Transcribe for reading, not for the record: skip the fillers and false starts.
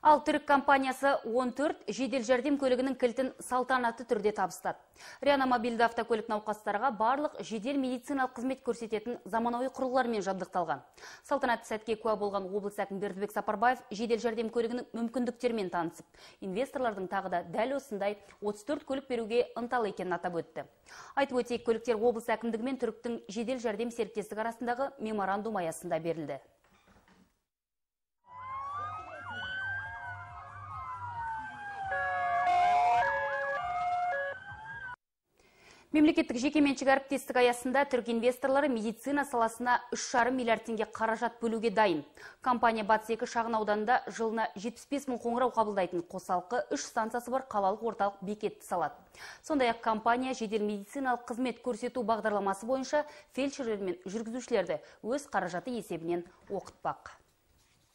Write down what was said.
Ал түрік компаниясы 14 жедел жәрдем көлігінің кілтін салтанатты түрде табыстады. Реанимобильді автокөлік науқастарға барлық жедел медициналық қызмет көрсететін заманауи құрылғылармен жабдықталған. Салтанатты сәтке куә болған облыс әкімі Бердібек Сапарбаев жедел жәрдем көлігінің мүмкіндіктерімен танысып, инвесторлардың тағы да дәл осындай 34 көлік беруге ынталы екенін атап өтті. Айтып өтейік, көліктер облыс әкімдігі мен түріктің жедел жәрдем серіктестігі арасындағы меморандум аясында берілді. Мемлекеттік жекеменшік әріптестік аясында түрік инвесторлары медицина саласына 3,5 миллиард теңге қаражат бөлуге дайын. Компания Батыс 2 шағын ауданында жылына 75 мың қоңырау қабылдайтын қосалқы 3 станциясы бар қалалық орталық бекетті салады. Сондай-ақ компания жедел медициналық қызмет көрсету бағдарламасы бойынша фельдшерлер мен жүргізушілерді өз қаражаты есебінен оқытпақ.